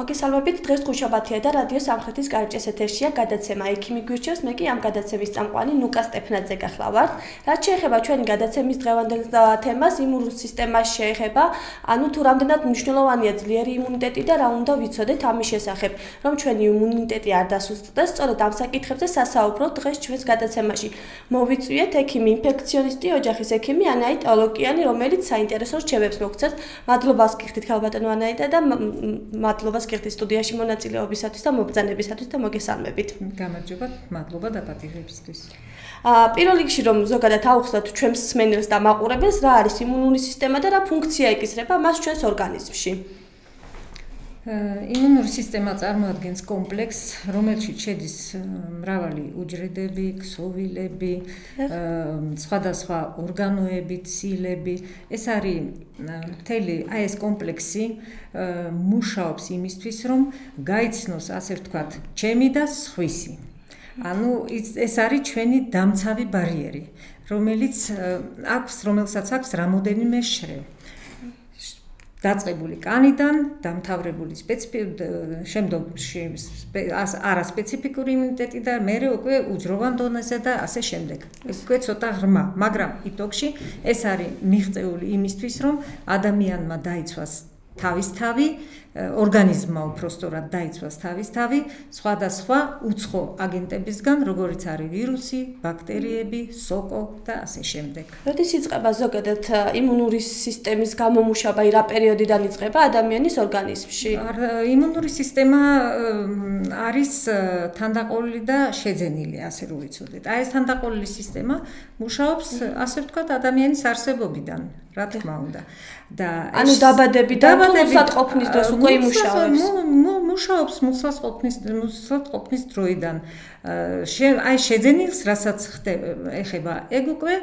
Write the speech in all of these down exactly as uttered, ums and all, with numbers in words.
მოგესალმებით, დღეს ხუთშაბათია და რადიო სამხრეთის კარიბჭეს ეთერშია გადაცემა ექიმი გვირჩევს, მე კი ამ გადაცემის წამყვანი ნუკა სტეფნაძე გახლავართ. რაც შეეხება ჩვენი გადაცემის დღევანდელ თემას, იმუნურ სისტემას შეეხება, ანუ თუ რამდენად მნიშვნელოვანია ძლიერი იმუნიტეტი და რა უნდა ვიცოდეთ ამის შესახებ, რომ ჩვენი იმუნიტეტი არ დასუსტდეს, სწორედ ამ საკითხებზე სასაუბროთ დღეს ჩვენს გადაცემაში. მოვიწვიეთ ექიმი, ინფექციონისტი, ოჯახის ექიმი ანაიტ ოლოკიანი, რომელიც საინტერესო რჩევებს მოგცეთ. მადლობას გიხდით ქალბატონო ანაიტა და მადლობას გიხდით სტუდიაში მონაწილეობისათვის და მობრძანებისათვის და მოგესალმებით. გამარჯობა, მადლობა დაპატიჟებისთვის. პირველ რიგში რომ ზოგადად აუხსნათ ჩვენს მსმენელს და მაყურებელს, რა არის იმუნური სისტემა და რა ფუნქცია ეკისრება მას ჩვენს ორგანიზმში. იმუნური სისტემა წარმოადგენს კომპლექსს, რომელშიც შედის მრავალი უჯრედები, ქსოვილები, სხვადასხვა ორგანოები, ცილები. ეს არის მთელი აი ეს კომპლექსი მუშაობს იმისთვის, რომ გაიცნოს, ასე ვთქვათ, ჩემი და სხვისი. ანუ ეს არის ჩვენი დამცავი ბარიერი, რომელიც აქვს, რომელსაც აქვს რამოდენიმე შრე. დაწყებული კანიდან, დამთავრებული სპეციფიკური, შემდგომში არასპეციფიკური იმუნიტეტი და მერე უკვე უძროვან დონეზე და ასე შემდეგ. უკვე ცოტა ღრმა, მაგრამ იტოგში ეს არის მიღწეული იმისთვის, რომ ადამიანმა დაიცვას თავისთავი, ორგანიზმმა უпростоრად დაიცვას თავისთავი სხვადასხვა უცხო აგენტებისგან, როგორიც არის ვირუსი, ბაქტერიები, სოკო და ასე შემდეგ. როდის იწყება ზოგადად იმუნური სისტემის გამომუშავება, რა პერიოდიდან იწყება ადამიანის ორგანიზმში? იმუნური სისტემა არის თანდაყოლილი და შეძენილი, ასე რომ ვიცოდეთ. აი ეს თანდაყოლილი სისტემა მუშაობს, ასე ვთქვათ, ადამიანის არსებობიდან, რა თქმა უნდა. და ანუ დაბადებიდან თუ მოსატყოფნის დროს უკვე იმუშავებს. მუშაობს მოსატყოფნის მოსატყოფნის დროიდან. აი შეძენილს, რასაც ეხება, ეგ უკვე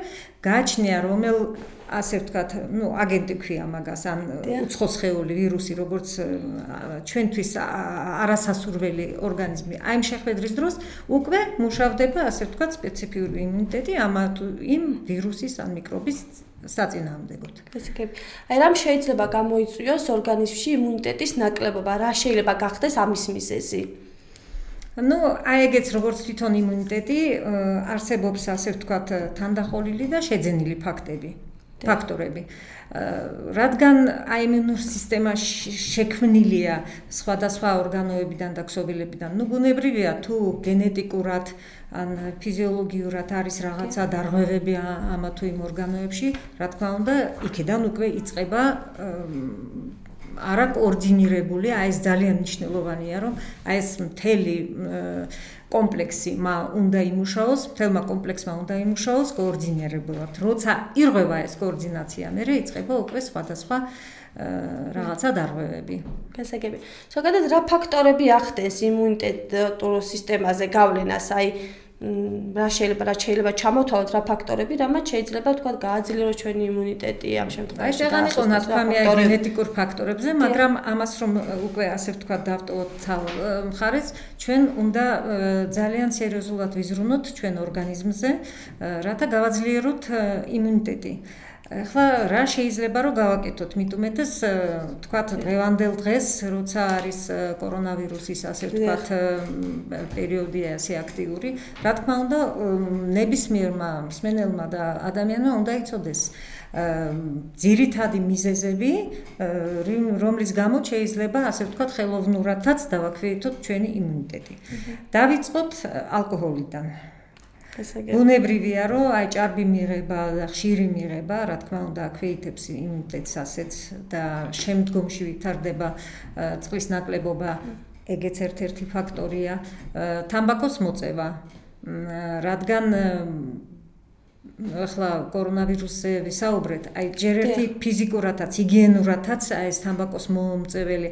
გააჩნია, რომელ ასე ვთქვათ, ნუ აგენტი ქვია მაგას, ან უცხო სხეული, ვირუსი, როგორც ჩვენთვის არასასურველი ორგანიზმი. აი ამ შეხვედრის დროს უკვე მუშავდება, ასე ვთქვათ, სპეციფიური იმუნიტეტი ამ იმ ვირუსის ან მიკრობის საწინააღმდეგოდ. აი რამ შეიძლება გამოიწვიოს ორგანიზმში იმუნიტეტის ნაკლებობა, რა შეიძლება გახდეს ამის მიზეზი? ნუ აი ეგეც როგორც თვითონ იმუნიტეტი არსებობს, ასე ვთქვათ, თანდაყოლილი და შეძენილი ფაქტები, ფაქტორები. რადგან აი იმუნურ სისტემა შექმნილია სხვადასხვა ორგანოებიდან და ქსოვილებიდან, ნუ ბუნებრივია თუ გენეტიკურად ან ფიზიოლოგიურად არის რაღაცა დარღვევები ამა თუ იმ ორგანოებში, რა თქმა უნდა, იქიდან უკვე იწყება არა კოორდინირებული, აი ეს ძალიან მნიშვნელოვანია, რომ აი ეს მთელი კომპლექსი უნდა იმუშაოს, მთელმა კომპლექსმა უნდა იმუშაოს კოორდინირებულად. როცა ირღვევა ეს კოორდინაცია, მერე იწყება უკვე სხვადასხვა რაღაცა დარღვევები. გასაგები. ზოგადად რა ფაქტორები ახდენს იმუნიტეტურ სისტემაზე გავლენას, აი რა შეიძლება რა შეიძლება ჩამოთვალოთ რა ფაქტორები, რამაც შეიძლება თქვა გააძლიეროს ჩვენი იმუნიტეტი ამ შემთხვევაში. აი შეგან იყო ნათქვამი აი გენეტიკურ ფაქტორებზე, მაგრამ ამას რომ უკვე ასე ვთქვა დავტოვოთ ცალ მხარეს, ჩვენ უნდა ძალიან სერიოზულად ვიზრუნოთ ჩვენ ორგანიზმზე, რათა გავაძლიეროთ იმუნიტეტი. ახლა რა შეიძლება რომ გავაკეთოთ, მithumetes თქვათ დღევანდელ დღეს, როცა არის კორონავირუსის ასე ვთქვათ პერიოდია ასე აქტიური, რა თქმა უნდა ნებისმიერმა მსმენელმა და ადამიანმა უნდა იცოდეს ძირითადი მიზეზები, რომლის გამო შეიძლება ასე ვთქვათ ხელოვნურადაც დავაქვეითოთ ჩვენი იმუნიტეტი. დავიწყოთ ალკოჰოლიდან. ბუნებრივია, რომ აი ჭარბი მიღება და ხშირი მიღება, რა თქმა უნდა, აქვეითებს იმუნიტეტს ასეც და შემდგომში ვითარდება წყლის ნაკლებობა, ეგეც ერთ-ერთი ფაქტორია. თამბაქოს მოწევა, რადგან ახლა კორონავირუსზე ვისაუბრეთ, აი ჯერ ერთი ფიზიკურადაც, ჰიგიენურადაც აი ეს თამბაქოს მომწეველი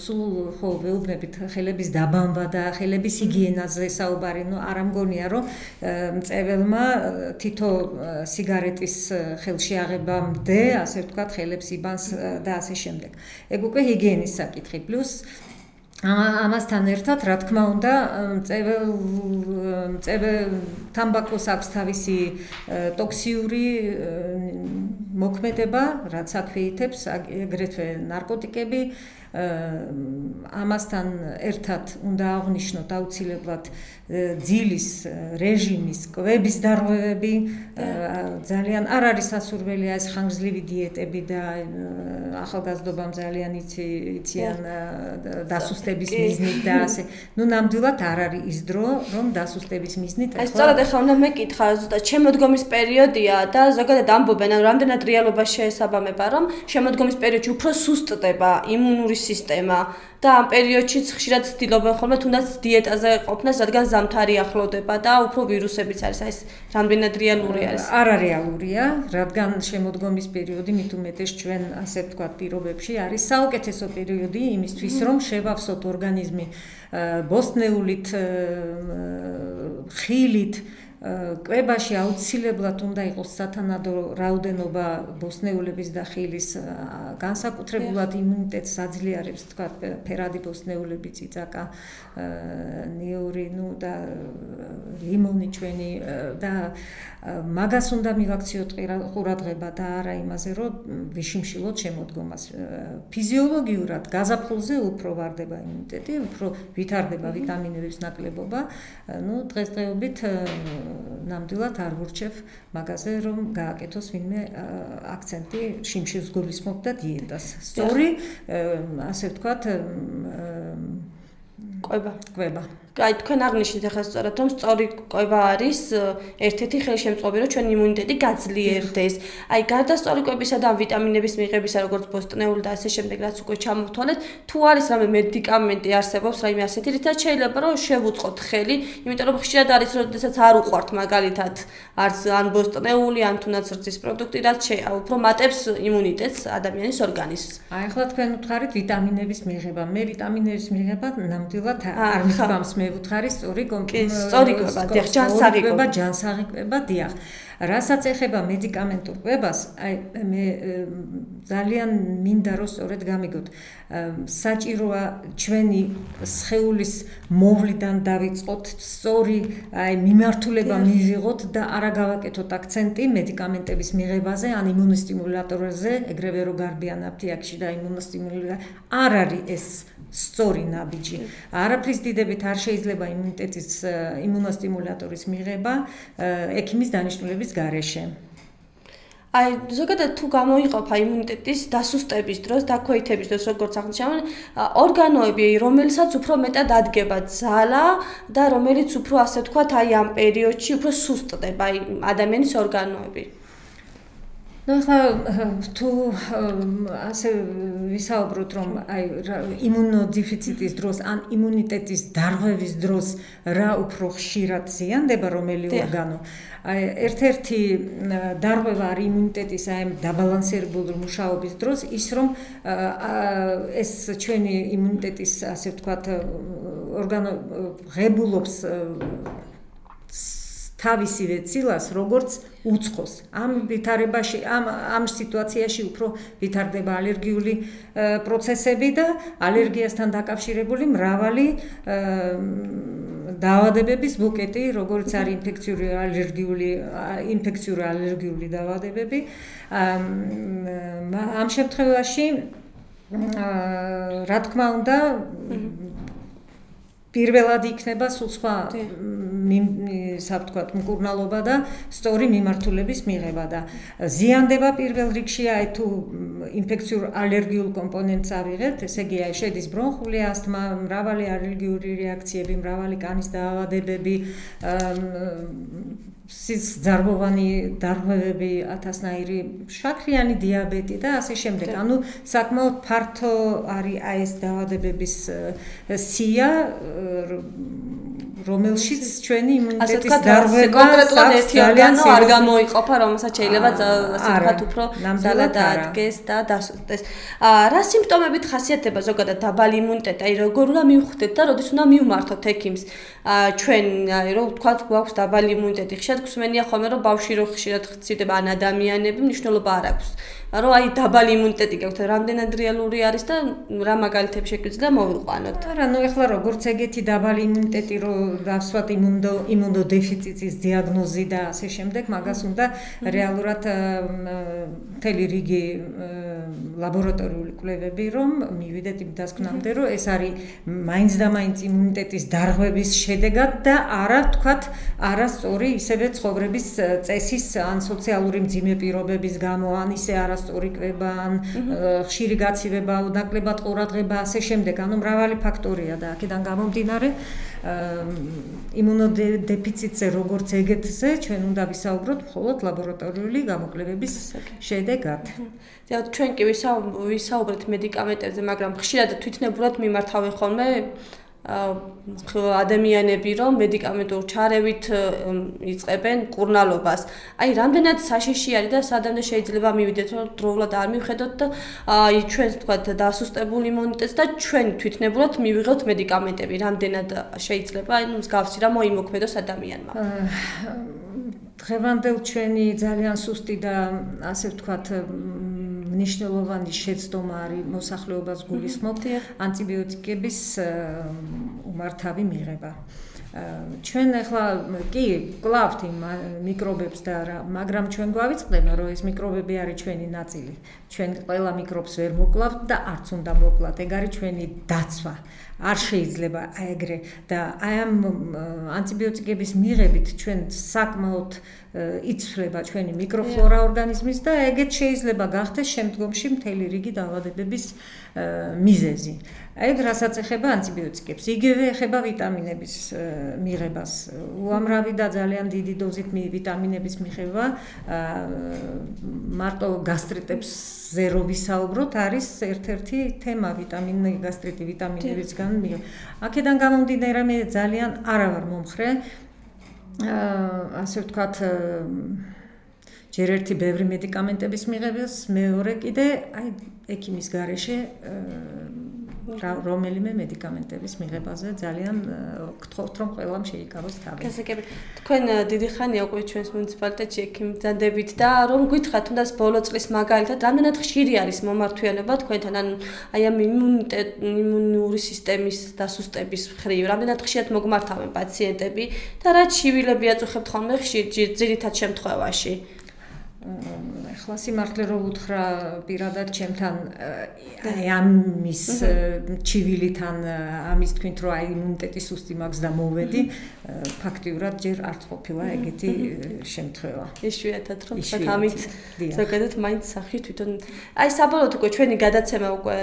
სულ ხო ვეუბნებით ხელების დაბანვა და ხელების ჰიგიენაზე საუბარი, ნუ არ ამგონია, რომ მწეველმა თითო სიგარეტის ხელში აღებამდე, ასე ვთქვათ, ხელებს იბანს და ასე შემდეგ. ეგ უკვე ჰიგიენის საკითხი, პლუს ამასთან ერთად, რა თქმა უნდა, მწეվել მწეվել თამბაქოს აქვს თავისი ტოქსიური მოქმედება, რაც აქვეითებს აგრეთვე ნარკოტიკები, ამასთან ერთად უნდა აღვნიშნოთ აუცილებლად ძილის რეჟიმის კვების დარღვევები ძალიან არ არის სასურველია ეს ხანგრძლივი დიეტები და ახალგაზრდობამ ძალიან იციან დასუსტების მიზნით და ასე ნუ ნამდვილად არ არის ის დრო რომ დასუსტების მიზნით აი სწორედ ახლა უნდა მეკითხა ზუსტად შემოდგომის პერიოდია და ზოგადად ამბობენ ანუ რამდენად რეალობა შეესაბამება რომ შემოდგომის პერიოდში უფრო სუსტდება იმუნური სისტემა და ამ პერიოდშიც ხშირად ცდილობენ ხოლმე თუნდაც დიეტაზე ყოფნას რადგან ზამთარი ახლოვდება და უფრო ვირუსებიც არის აი ეს რამდენად რეალური არის არარეალურია რადგან შემოდგომის პერიოდი მით უმეტეს ჩვენ ასე ვთქვათ პირობებში არის საუკეთესო პერიოდი იმისთვის რომ შევავსოთ ორგანიზმი ბოსტნეულით ხილით კვებაში აუცილებლად უნდა იყოს სათანადო რაოდენობა ბოსტნეულების და ხილის განსაკუთრებულად იმუნიტეტს აძლიერებს თქვა ფერადი ბოსტნეულები წიწაკა ნიური ნუ და ლიმონი ჩვენი და მაგას უნდა მივაქციოთ ყურადღება და არა იმაზე რომ ვიშიმშილოთ შემოდგომას ფიზიოლოგიურად გაზაფხულზე უფრო ვარდება იმუნიტეტი უფრო ვითარდება ვიტამინების ნაკლებობა ნუ დღესდღეობით ნამდვილად არ ვურჩევ მაგაზე რომ გააკეთოს ვინმე აქცენტი შიმშილს გულისხმობ და დიეტას სწორი ასე ვთქვათ კვება კვება აი თქვენ აღნიშნეთ ახლა სწორად რომ სწორი კვება არის ერთ-ერთი ხელშემწყობი რომ ჩვენ იმუნიტეტი გაძლიერდეს აი გარდა სწორი კვებისა და ვიტამინების მიღებისა როგორც ბოსტნეული და ასე შემდეგ რაც უკვე ჩამოვთვალეთ თუ არის რამე მედიკამენტი არსებობს რაიმე ასეთი რითაც შეიძლება რომ შევუწყოთ ხელი იმიტომ რომ ხშირად არის როდესაც არ უყვართ მაგალითად არც ან ბოსტნეული ან თუნდაც რძის პროდუქტი რაც უფრო მატებს იმუნიტეტს ადამიანის ორგანიზმს აი ახლა თქვენ უთხარით ვიტამინების მიღება მე ვიტამინების მიღება ნამდვილად არ მიგვამს მე ვუთხარი სწორი სწორი კვება დიახ ჯანსაღი კვება ჯანსაღი კვება დიახ რასაც ეხება მედიკამენტურ კვებას აი მე ძალიან მინდა რომ სწორედ გამიგოთ საჭიროა ჩვენი სხეულის მოვლიდან დავიწყოთ სწორი აი მიმართულება მივიღოთ და არა გავაკეთოთ აქცენტი მედიკამენტების მიღებაზე ან იმუნოსტიმულატორებზე ეგრევე რომ გარბიან აფთიაქში და იმუნოსტიმულატორი არ არის ეს სწორი ნაბიჯი არაფრის დიდებით არ შეიძლება იმუნიტეტის იმუნოსტიმულატორის მიღება ექიმის დანიშნულების გარეშე აი ზოგადად თუ გამოიყოფა იმუნიტეტის დასუსტების დროს, დაქვეითების დროს, როგორც აღნიშნავენ, ორგანოები, რომელსაც უფრო მეტად ადგება ძალა და რომელიც უფრო ასე ვთქვათ, აი ამ პერიოდში უფრო სუსტდება, აი ადამიანის ორგანოები. ну ახლა თუ ასე ვისაუბროთ რომ აი იმუნოდეფიციტის დროს ან იმუნიტეტის დარღვევის დროს რა უფრო ხშირად ზიანდება რომელი ორგანო აი ერთ-ერთი დარღვევა არის იმუნიტეტის აი დაბალანსებული მუშაობის დროს ის რომ ეს ჩვენი იმუნიტეტის ასე ვთქვათ ორგანო ღებულობს თავისივე ცილას როგორც უცხოს ამ ვითარებაში ამ ამ სიტუაციაში უფრო ვითარდება ალერგიული პროცესები და ალერგიასთან დაკავშირებული მრავალი დაავადებების ბუკეტი როგორც არის ინფექციური ალერგიული ინფექციური ალერგიული დაავადებები ამ შემთხვევაში რა თქმა უნდა პირველად იქნება სულ სხვა საფთქვათ მკურნალობა და სწორი მიმართულების მიღება და ზიანდება პირველ რიგში აი თუ ინფექციურ ალერგიულ კომპონენტს ავიღებთ, ესე იგი აი შედის ბრონხული ასთმა, მრავალი ალერგიული რეაქციები, მრავალი კანის დაავადებები, სისხლძარღვოვანი დარღვევები, ათასნაირი შაქრიანი დიაბეტი და ასე შემდეგ. ანუ საკმაოდ ფართო არის აი ეს დაავადებების სია რომელშიც ჩვენი იმუნიტეტის დარღვევა კონკრეტულად ერთი ორგანო არ გამოიყოფა, რომელსაც შეიძლება ასე ვთქვათ უფრო ძალა დაადგეს და დასუსტეს. რა სიმპტომებით ხასიათდება ზოგადად დაბალი იმუნიტეტი? აი როგორ უნდა მივხვდეთ და როდის უნდა მივმართოთ ექიმს? ჩვენ აი რომ ვთქვათ გვაქვს დაბალი იმუნიტეტი, ხშირად გვსმენია ხოლმე რომ ბავშვი რო ხშირად ხცირდება ან ადამიანები მნიშვნელობა არ აქვს. რომ აი დაბალი იმუნიტეტი გაქვთ, რამდენად რეალური არის და რა მაგალითები შეგვიძლია მოვიყვანოთ. არა, ნუ ეხლა როგორც ეგეთი დაბალი იმუნიტეტი რო დავსვათ იმუნო იმუნოდეფიციტის დიაგნოზი და ასე შემდეგ, მაგას უნდა რეალურად მთელი რიგი ლაბორატორიული კვლევები რომ მივიდეთ იმ დასკვნამდე, რომ ეს არის მაინც და მაინც იმუნიტეტის დარღვევის შედეგად და არა თქვათ არასწორი ისევე ცხოვრების წესის ან სოციალური მძიმე პირობების გამო ან ისე არასწორი კვება ან ხშირი გაცივება, ნაკლებად ყურადღება ასე შემდეგ, ანუ მრავალი ფაქტორია და აქედან გამომდინარე იმუნოდეფიციტზე როგორც ეგეთზე ჩვენ უნდა ვისაუბროთ მხოლოდ ლაბორატორიული გამოკვლევების შედეგად. ჩვენ კი ვისაუბრეთ მედიკამენტებზე, მაგრამ ხშირად თვითნებურად მიმართავენ ხოლმე ადამიანები რომ მედიკამენტურ ჩარევით იწყებენ კურნალობას. აი რამდენად საშიში არის და სადამდე შეიძლება მივიდეთ რომ დროულად არ მივხედოთ და აი ჩვენს თქვათ დასუსტებულ იმუნიტეტს და ჩვენ თვითნებურად მივიღოთ მედიკამენტები. რამდენად შეიძლება აი მსგავსი რა მოიმოქმედოს ადამიანმა. დღევანდელ ჩვენი ძალიან სუსტი და ასე ვთქვათ მნიშვნელოვანი შეცდომა არის მოსახლეობას გულისხმობთ ანტიბიოტიკების უმართავი მიღება. ჩვენ ახლა კი კლავთ იმ მიკრობებს და რა, მაგრამ ჩვენ გვავიწყდება რომ ეს მიკრობები არის ჩვენი ნაწილი. ჩვენ ყველა მიკრობს ვერ მოკლავთ და არც უნდა მოკლათ. ეგ არის ჩვენი დაცვა. არ შეიძლება ეგრე და აი ამ ანტიბიოტიკების მიღებით ჩვენ საკმაოდ იცვლება ჩვენი მიკროფლორა ორგანიზმის და ეგეც შეიძლება გახდეს შემდგომში მთელი რიგი დაავადებების მიზეზი. ეგ რასაც ეხება ანტიბიოტიკებს, იგივე ეხება ვიტამინების მიღებას. უამრავი და ძალიან დიდი დოზით ვიტამინების მიღება მარტო გასტრიტებზე რო ვისაუბროთ, არის ერთ-ერთი თემა ვიტამინი გასტრიტი ვიტამინებისგან. აქედან გამომდინარე მე ძალიან არა ვარ მომხრე ასე ვთქვათ ჯერ ერთი ბევრი მედიკამენტების მიღებას, მეორე კიდე აი ექიმის გარეშე რომელიმე მედიკამენტების მიღებაზე ძალიან გთხოვთ რომ ყველამ შეიკავოს თავი. გასაგები, თქვენ დიდი ხანია უკვე ჩვენს მუნიციპალიტეტში ექიმი ბრძანდებით და რომ გითხრათ თუნდაც ბოლო წლის მაგალითად რამდენად ხშირი არის მომართვიანება თქვენთან ან აი ამ იმუნური სისტემის დასუსტების მხრივ, რამდენად ხშირად მოგმართავენ პაციენტები და რა ჩივილები აწუხებთ ხოლმე ხშირ ძირითად შემთხვევაში? ახლა სიმართლე რო უთხრა პირადად ჩემთან აი ამის ჩივილიდან ამის თქვით რომ აი იმუნიტეტის სუსტი მაქვს და მოვედი ფაქტიურად ჯერ არც ყოფილა ეგეთი შემთხვევა. იშვიათად რომ ამით ზოგადად მაინც სახში თვითონ აი საბოლოოდ უკვე ჩვენი გადაცემა უკვე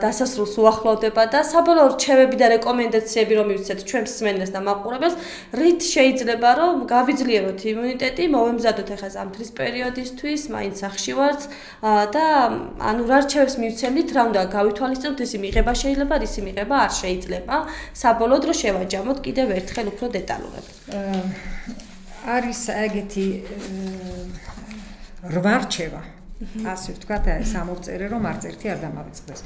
დასასრულს უახლოვდება და საბოლოო რჩევები და რეკომენდაციები რომ მივცეთ ჩვენს მსმენელს და მაყურებელს, რით შეიძლება რომ გავიძლიეროთ იმუნიტეტი, მოვემზადოთ ახლა ზამთრის პერიოდისთვის, მაინც სახში ვართ და ანუ რა რჩევებს მივცემთ, რა უნდა გავითვალისწინოთ, ისი მიღება შეიძლება, ისი მიღება არ შეიძლება. საბოლოოდ რომ შევაჯამოთ კიდევ ერთხელ უფრო დეტალურად. არის ეგეთი რვა რჩევა. ასე ვთქვათ, სამოვწერე რომ არც ერთი არ დამავიწყდეს.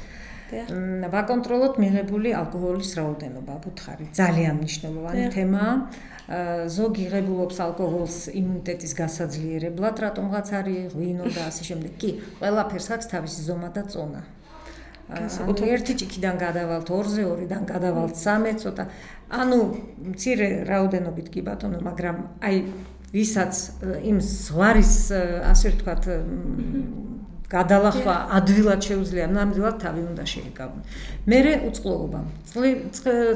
ვაკონტროლოთ მიღებული ალკოჰოლის რაოდენობა, ვუთხარი, ძალიან მნიშვნელოვანი თემაა. ზოგი ღებულობს ალკოჰოლს იმუნიტეტის გასაძლიერებლად, რატომღაც არის ღვინო და ასე შემდეგ. კი, ყველაფერს აქვს თავისი ზომა და წონა. ანუ ერთი ჭიქიდან გადავალთ ორზე, ორიდან გადავალთ სამე, ცოტა. ანუ მცირე რაოდენობით კი ბატონო, მაგრამ აი ვისაც იმ ზღვარის ასე ვთქვათ გადალახვა ადვილად შეუძლია, ნამდვილად თავი უნდა შეიკავონ. მერე უწყლობა.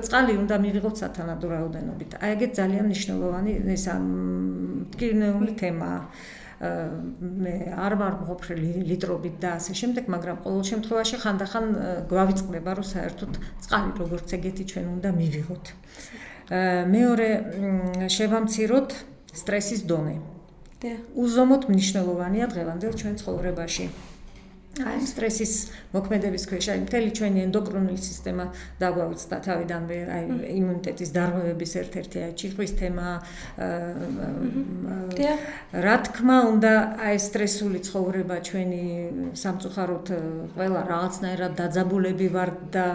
წყალი უნდა მივიღოთ სათანადო რაოდენობით. აი ეგეთ ძალიან მნიშვნელოვანი ეს მტკივნეული თემაა. მე არ ვარ მყოფრელი ლიტრობით და ასე შემდეგ, მაგრამ ყოველ შემთხვევაში ხანდახან გვავიწყდება, რომ საერთოდ წყალი როგორც ეგეთი ჩვენ უნდა მივიღოთ. მეორე შევამციროთ სტრესის დონე. უზომოდ მნიშვნელოვანია დღევანდელ ჩვენ ცხოვრებაში. აი სტრესის მოქმედების ქვეშ აი მთელი ჩვენი ენდოკრინული სისტემა დაგვაუწყდა თავიდანვე აი იმუნიტეტის დარღვევების ერთ-ერთი აი ჭირყვის თემა. რა თქმა უნდა აი სტრესული ცხოვრება ჩვენი სამწუხაროდ ყველა რაღაცნაირად დაძაბულები ვართ და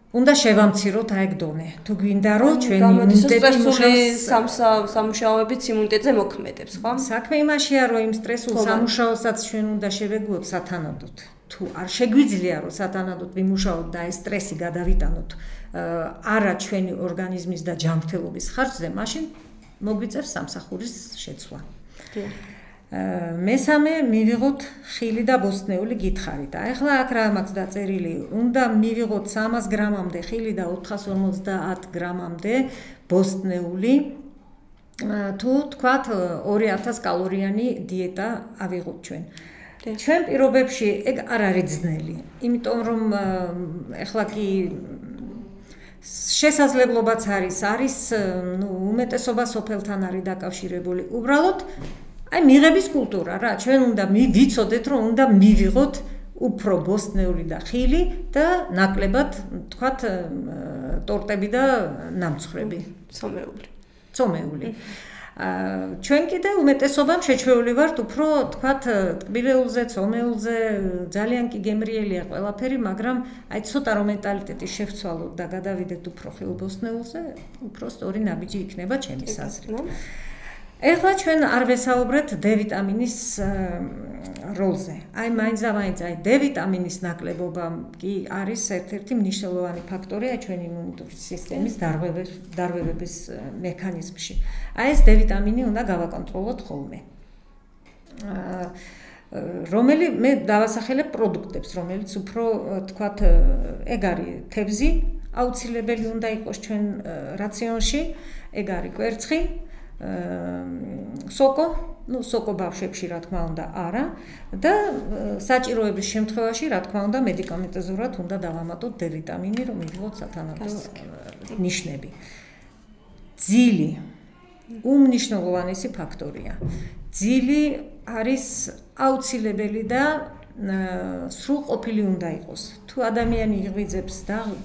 უნდა შევამციროთ აი ეგ დონე. თუ გვინდა რომ ჩვენი იმუნიტეტი სამუშაოებიც იმუნიტეტზე მოქმედებს, ხო? საქმე იმაშია, რომ იმ სტრესულ სამუშაოსაც ჩვენ უნდა შევეგუოთ სათანადოდ. თუ არ შეგვიძლია რომ სათანადოდ ვიმუშაოთ და ეს სტრესი გადავიტანოთ არა ჩვენი ორგანიზმის და ჯანმრთელობის ხარჯზე, მაშინ მოგვიწევს სამსახურის შეცვლა. მესამე მივიღოთ ხილი და ბოსტნეული გითხარით. ახლა აქ რა მაქვს დაწერილი? უნდა მივიღოთ სამას გრამამდე ხილი და ოთხას ორმოცდაათ გრამამდე ბოსტნეული. თუ თქვათ ორი ათას კალორიანი დიეტა ავიღოთ ჩვენ. ჩვენ პირობებში ეგ არ არის ძნელი, იმიტომ რომ ახლა კი შესაძლებლობაც არის, არის, ნუ უმეტესობა სოფელთან არის დაკავშირებული. უბრალოდ აი მიღების კულტურა რა, ჩვენ უნდა ვიცოდეთ, რომ უნდა მივიღოთ უფრო ბოსტნეული და ხილი და ნაკლებად, თქვათ, ტორტები და ნამცხრები, ცომეული. ცომეული. ჩვენ კიდე უმეტესობამ შეჩვეული ვართ უფრო, თქვათ, ტკბილეულზე, ცომეულზე, ძალიან კი გემრიელია ყველაფერი, მაგრამ აი ცოტა რომ მენტალიტეტი შევცვალოთ და გადავიდეთ უფრო ხილბოსტნეულზე, უფრო სწორი ნაბიჯი იქნება ჩემი აზრით. ეხლა ჩვენ არ ვესაუბრეთ D ვიტამინის როლზე. აი მაინც და მაინც აი D ვიტამინის ნაკლებობა კი არის ერთ-ერთი მნიშვნელოვანი ფაქტორი აი ჩვენი იმუნიტური სისტემის დარღვევების მექანიზმში. აი ეს D ვიტამინი უნდა გავაკონტროლოთ ხოლმე. რომელი მე დავასახელებ პროდუქტებს, რომელიც უფრო თქვათ ეგ არის თევზი, აუცილებელი უნდა იყოს ჩვენ რაციონში, ეგ არის კვერცხი, სოკო, ну სოკო ბავშვებში რა თქმა უნდა არა და საჭიროების შემთხვევაში რა თქმა უნდა მედიკამენტოზურად უნდა დავამატოთ D ვიტამინი, რომ მივიღოთ სათანადო ნიშნები. ძილი უმნიშვნელოვანესი ფაქტორია. ძილი არის აუცილებელი და სრულყოფილი უნდა იყოს. თუ ადამიანი იღვიძებს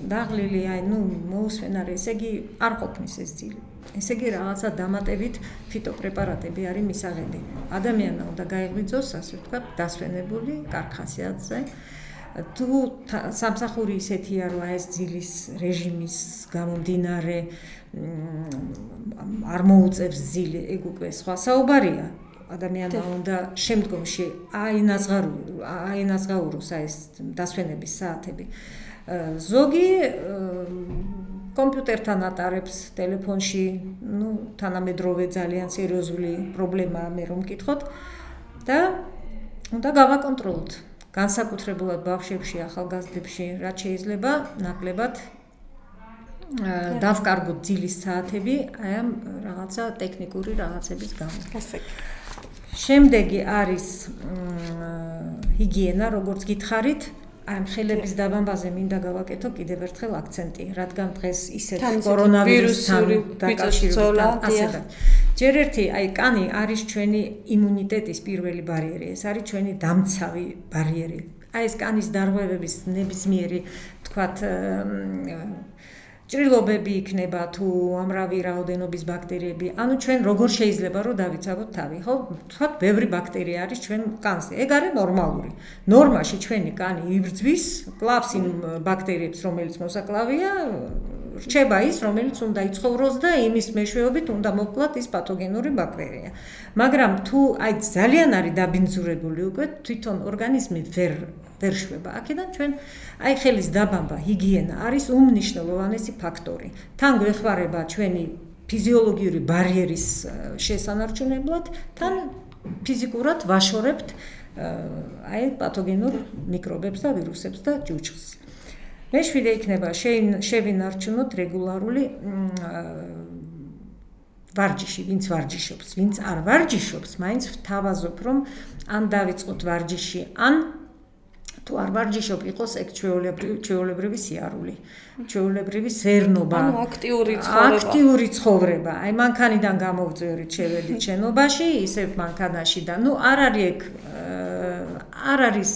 დაღლილი, აი ნუ მოусვენარი, ესე იგი არ ყოფნის ეს ძილი. ესე იგი რაღაცა დამატებით ფიტოპრეპარატები არის მისაღები. ადამიანმა უნდა გაიღვიძოს, ასე ვთქვათ, დასვენებული კარხასიათზე. თუ სამსახური ისეთია, რომ ეს ძილის რეჟიმის გამომდინარე არ მოუწევს ძილი, ეგ უკვე სხვა საუბარია. ადამიანმა უნდა შემდგომში აინაზღაუროს ეს დასვენების საათები. ზოგი კომპიუტერთან ატარებს ტელეფონში, ну, თანამედროვე ძალიან სერიოზული პრობლემაა მე რომ მკითხოთ და უნდა გავაკონტროლოთ. განსაკუთრებულად ბავშვებში, ახალგაზრდებში, რაც შეიძლება ნაკლებად დავკარგოთ ძილის საათები, აი ამ რაღაცა ტექნიკური რაღაცების გამო. შემდეგი არის ჰიგიენა, როგორც გითხარით. აი ხელების დაბამბაზე მინდა გავაკეთო კიდევ ერთხელ აქცენტი, რადგან დღეს ისეთ კორონავირუსთან დაკავშირებით ასე. ჯერ ერთი აი კანი არის ჩვენი იმუნიტეტის პირველი ბარიერი, ეს არის ჩვენი დამცავი ბარიერი. აი ეს კანის დარღვევების ნებისმიერი, თქვათ, ჭრილობები იქნება თუ ამრავი რაოდენობის ბაქტერიები. ანუ ჩვენ როგორ შეიძლება რომ დავიცავოთ თავი, ხო? თქვათ, ბევრი ბაქტერია არის ჩვენ კანზე. ეგ არის ნორმალური. ნორმაში ჩვენი კანი იბრძვის, კლავს იმ ბაქტერიებს, რომელიც მოსაკლავია, რჩება ის, რომელიც უნდა იცხოვროს და იმის მეშვეობით უნდა მოკვლათ ის პათოგენური ბაქტერია. მაგრამ თუ აი ძალიან არის დაბინძურებული უკვე თვითონ ორგანიზმი ვერ ვერ შვება. აქედან ჩვენ აი ხელის დაბამბა, ჰიგიენა არის უმნიშვნელოვანესი ფაქტორი. თან გვეხმარება ჩვენი ფიზიოლოგიური ბარიერის შესანარჩუნებლად, თან ფიზიკურად ვაშორებთ აი პათოგენურ მიკრობებს და ვირუსებს და ჭუჭხს. მეშვიდე იქნება შევინარჩუნოთ რეგულარული ვარჯიში, ვინც ვარჯიშობს, ვინც არ ვარჯიშობს, მაინც ვთავაზობ, რომ ან დავიწყოთ ვარჯიში, ან თუ არ ვარჯიშობ, იყოს ეგ ჩვეულებრივი სიარული, ჩვეულებრივი სერნობა, ანუ აქტიური ცხოვრება. აქტიური ცხოვრება. აი მანქანიდან გამოვწვევით, შევედით შენობაში, ისევ მანქანაში და ნუ არ არის ეგ არ არის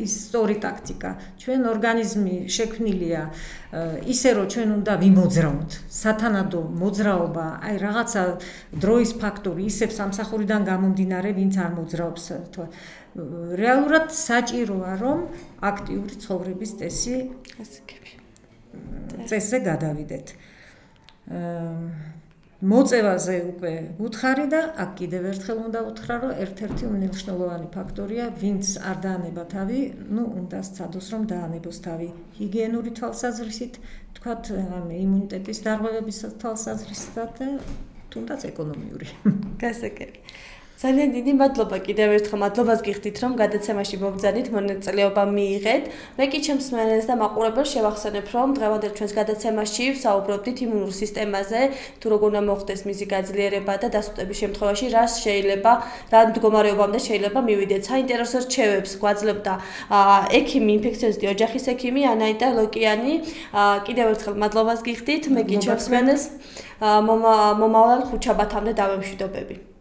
ის სწორი ტაქტიკა. ჩვენ ორგანიზმი შექმნილია ისე, რომ ჩვენ უნდა ვიმოძრავოთ. სათანადო მოძრაობა, აი რაღაცა დროის ფაქტორი, ისევ სამსახურიდან გამომდინარე, ვინც არ მოძრაობს. რეალურად საჭიროა, რომ აქტიური ცხოვრების წესი წესზე გადავიდეთ. მოწევაზე უკვე უთხარი და აქ კიდევ ერთხელ უნდა უთხრა, რომ ერთ-ერთი უმნიშვნელოვანი ფაქტორია, ვინც არ დაანება თავი, ну, უნდა სცადოს, რომ დაანებოს თავი ჰიგიენური თვალსაზრისით, თქვათ, იმუნიტეტის დარღვევების თვალსაზრისით და თუნდაც ეკონომიური. გასაგები. ძალიან დიდი მადლობა კიდევ ერთხელ მადლობას გიხდით რომ გადაცემაში მობრძანით მონაწილეობა მიიღეთ. მე კი ჩემს მსმენელს და მაყურებელს შევახსენებ რომ დღევანდელ ჩვენს გადაცემაში ვსაუბრობდით იმუნურ სისტემაზე, თუ როგორ უნდა მოხდეს მისი გაძლიერება და დასუსტების შემთხვევაში რა შეიძლება, რა მდგომარეობამდე შეიძლება მივიდეთ. საინტერესო რჩევებს გვაძლევდა ექიმი, ინფექციონისტი ოჯახის ექიმი ანაიტა ლოკიანი. კიდევ ერთხელ მადლობას გიხდით. მე კი ჩემს მსმენელს მომავალ ხუთშაბათამდე დავემშვიდობები.